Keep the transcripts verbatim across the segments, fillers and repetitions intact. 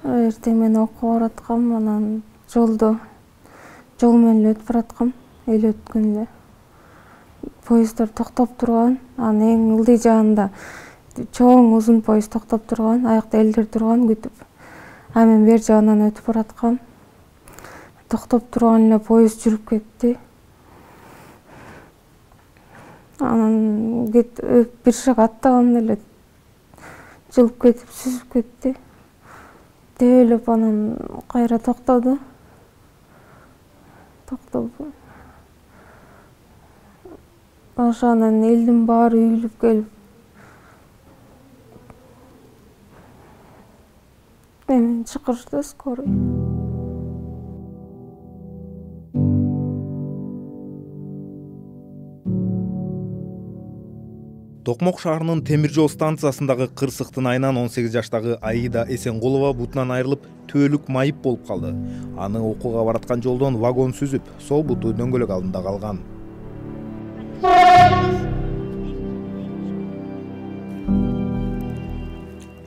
Эртең менен окууга бараткам, анан жолдо жол менен эле өтүп бараткам, эл өткөн эле. Поездар токтоп турган, анын эң ылдый жагында чоң узун поезд токтоп турган, аякта элдер турган күтүп. А мен бер жагынан өтүп бараткам. Токтоп турган эле поезд жүрүп кетти. Анан бир шаг аттаганда эле жылып кетип, сүзүп кетти. Тейлеп анан кайра токтоду. Токтоду. Ошонан элдин баары үйүлүп келип, мени чакырышты скорый. Токмок шаарынын темир жол станциясындагы кырсыктын айынан он сегиз жаштагы Аида Эсенкулова бутунан айрылып, түбөлүк майып болуп калды. Аны окууга бараткан жолдон вагон сүзүп, сол буту дөңгөлөк алдында калган.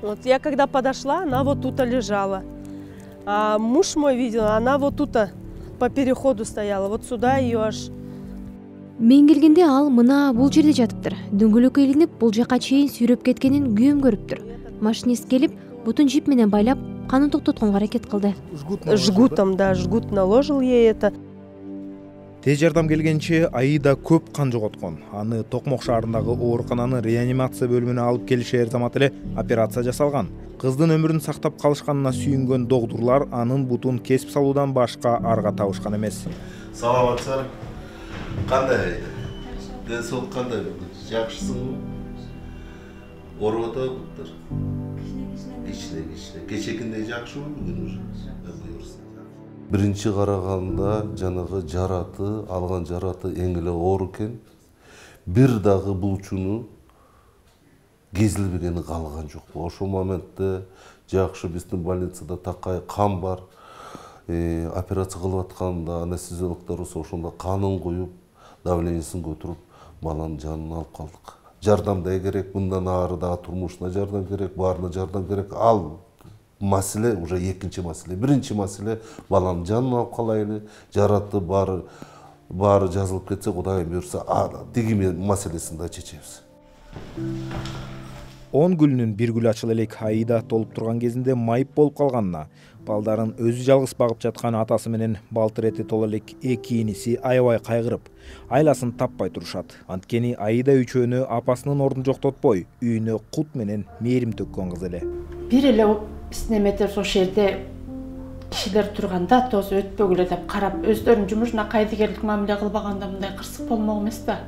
Вот я когда подошла, она вот тут лежала. А муж мой видел, она вот тут по переходу стояла. Вот сюда ее аж. Мен келгенде ал мына бул жерде жатыптыр. Дөңгөлөккө илинип, бул жака чейин сүйрөп кеткенин күйөөм көрүптүр. Машинист келип, бутун жип менен байлап, канын токтотконго аракет кылды. Жгутом, да, жгут наложил ей это. Тез жардам келгенче Аида көп кан жоготкон. Аны Токмок шаарындагы оорукананын реанимация бөлүмүнө алып келишер замат эле операция жасалган. Кыздын өмүрүн сактап калышканына сүйүнгөн докторлор анын бутун кесип салуудан башка арга табышкан эмес. Саламатсыздар. Кандай? Ден соолук кандай? Жакшысыңбы? Ооруп атабы? Кичине кичине. Кечекиндей жакшыбы бүгүн уже? Биринчи караганда жанагы жараты, алган жараты эң эле оор экен. Бир дагы булчуну кезилбегени калган жок. Ошол моментте жакшы биздин больницада такай кан бар. Э, операция кылып атканда анестезиологдорубуз ошондо канын куюп, давлениесин көтөрүп, баланын жанын алып калдык. Жардам да керек, мындан ары дагы турмушуна жардам керек, баарына жардам керек. Ал маселе уже экинчи маселе. Биринчи маселе баланын жанын алып калайлы, жараты баары баары жазылып кетсе, Кудайым буйрса, тиги маселесин да чечебиз. он гүлүнүн бир гүлү ачыла элек Аида толуп турган кезинде майып болуп калганына, балдарын өзү жалгыз багып жаткан атасы менен балтыр эти толо элек эки иниси аябай кайгырып, айласын таппай турушат. Анткени Аида үчөөнү апасынын ордун жоктотпой, үйүнө кут менен мээрим төккөн кыз эле. Бир эле биздин эметер ошол жерде кишилер турганда тоз өтпөгүлө деп карап, өздөрүнүн жумушуна кайдыгерлик мамиле кылбаганда мындай кырсык болмок эмес да.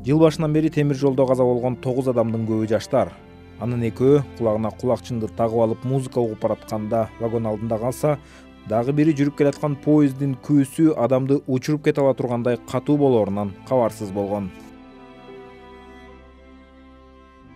Жыл башынан бери темир жолдо каза болгон тогуз адамдын көбү жаштар. Анын экөө кулагына кулакчынды тагып алып музыка угуп баратканда вагон алдында калса, дагы бири жүрүп келаткан поездин күүсү адамды учуруп кете ала тургандай катуу болоорунан кабарсыз болгон.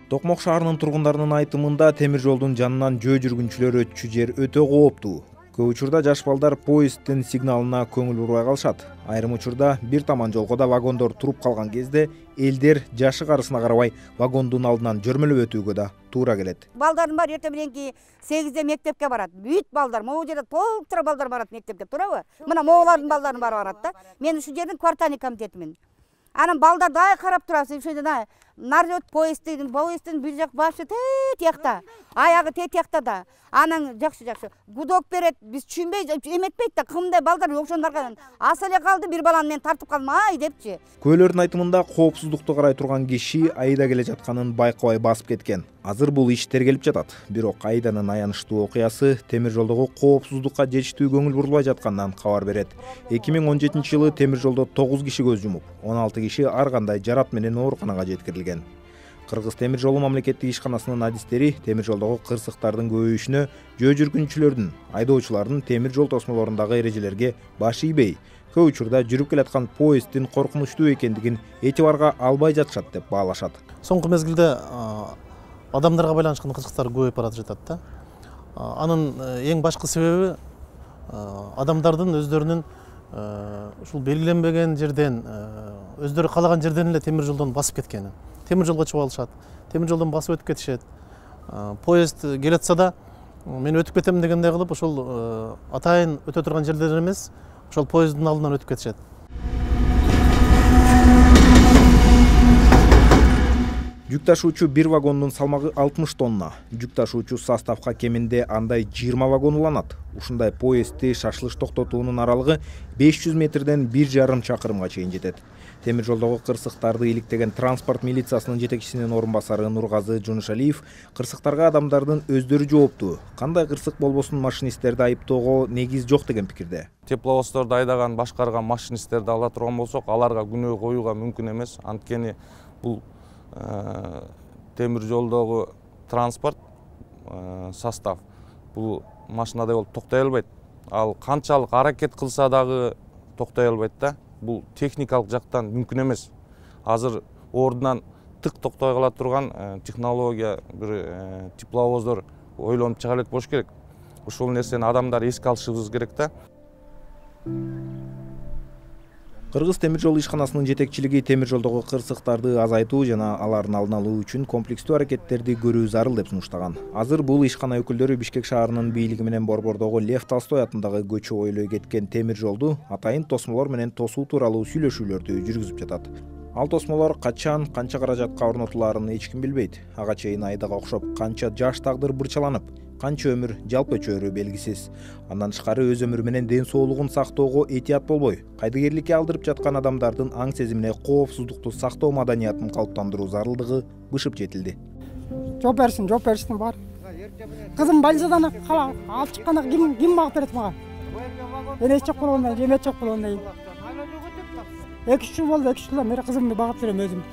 Токмок шаарынын тургундарынын айтымында темир жолдун жанынан жөө жүргүнчүлөр өтчү жер өтө кооптуу. Көп учурда жаш балдар поезддин сигналына көңүл бурбай калышат. Айрым учурда бир таман жолгода вагондор туруп калган кезде элдер жашы карысына карабай вагондун алдынан жөрмөлөп өтүүгө да туура келет. Балдардын баары эртең мененки сегизде мектепке барат. Бүт балдар, могу жерде толтура балдар барат мектепке, туурабы? Мына моголардын балдарынын баары барат да. Мен ушул жердин квартальный комитетимин. Анан балдар дай карап турабыз. Ошол жерде народ поезддин, поезддин бир жак башы тиякта, аягы тиякта да. Анан жакшы жакшы гудок берет, биз түшүнбөй эметпейт да, кымдай балдар ошондорго аса эле калды, бир баланы мен тартып калдым, ай депчи. Көөлөрдүн айтымында коопсуздукту карай турган киши Аида келе жатканын байкабай басып кеткен. Азыр бул иш тергелип жатат. Бирок Аиданын аянычтуу окуясы темир жолдогу коопсуздукка жетиштүү көңүл бурулбай жатканынан кабар берет. эки миң он жетинчи жылы темир жолдо тогуз киши көз жумуп, он алты киши ар кандай жарат менен ооруканага жеткирилген. Кыргыз темир жолу мамлекеттик ишканасынын адистери темир жолдогу кырсыктардын көбөйүшүнө жөө жүргүнчүлөрдүн, айдоочулардын темир жол тосмолорундагы эрежелерге баш ийбей, көп учурда жүрүп келаткан поезддин коркунучтуу экендигин этибарга албай жатышат деп баалашат. Соңку мезгилде адамдарга байланышкан кырсыктар көбөйүп баратып жатат да. Анын эң башкы себеби адамдардын өздөрүнүн ушул белгиленбеген жерден өздөрү каалаган жерден эле темир жолдон басып кеткени. Темир жолго чыгып алышат, темир жолдон басып өтүп кетишет. Поезд келатса да мен өтүп кетем дегендей кылып ошол атайын өтө турган жерлер эмес, ошол поезддин алдынан өтүп кетишет. Жүк ташуучу бир вагондун салмагы алтымыш тонна. Жүк ташуучу составка кеминде андай жыйырма вагон уланат. Ушундай поездди шашылыш токтотуунун аралыгы беш жүз метрден бир жарым чакырымга чейин жетет. Темир жолдогу кырсыктарды иликтеген транспорт милициясынын жетекчисинин орун басары Нургазы Жунушалиев кырсыктарга адамдардын өздөрү жооптуу. Кандай кырсык болбосун машинисттерди айыптоого негиз жок деген пикирде. Тепловоздорду айдаган, башкарган машинисттерди ала турган болсок, аларга күнөө коюуга мүмкүн эмес. Анткени бул темир жолдогу транспорт состав бул машинадай болуп токтой албайт. Ал канчалык аракет кылса дагы токтой албайт да. Бул техникалык жактан мүмкүн эмес. Азыр ордунан тык токтой кала турган технология бир тепловоздор ойлонуп чыга элек болуш керек. Ушул нерсени адамдар эске алышыбыз керек да. Кыргыз темир жол ишканасынын жетекчилиги темир жолдогу кырсыктарды азайтуу жана алардын алдын алуу үчүн комплекстүү аракеттерди көрүү зарыл деп сунуштаган. Азыр бул ишкана өкүлдөрү Бишкек шаарынын бийлиги менен Борбордогу Лев Толстой атындагы көчө ойлой кеткен темир жолду атайын тосмолор менен тосуу тууралуу сүйлөшүүлөрдү жүргүзүп жатат. Ал тосмолор качан, канча каражатка орнотулаарын эч ким билбейт. Ага чейин айдага окшоп канча жаш тагдыр бырчаланып, канча өмүр жалп өчөрү белгисиз. Андан тышкары өз өмүрү менен ден соолугун сактоого этият болбой, кайдыгерликке алдырып жаткан адамдардын аң сезимине коопсуздукту сактоо маданиятын калыптандыруу зарылдыгы бышып жетилди. Жооп берсин, жооп бериштин бар. Кызым больницадан кала алып чыкканда ким ким багып берет мага? Мен эч жок болгондон кийин, эч жок болгондон кийин. эки үч жыл болду, эки үч жылдан бери кызымды багып берем өзүм.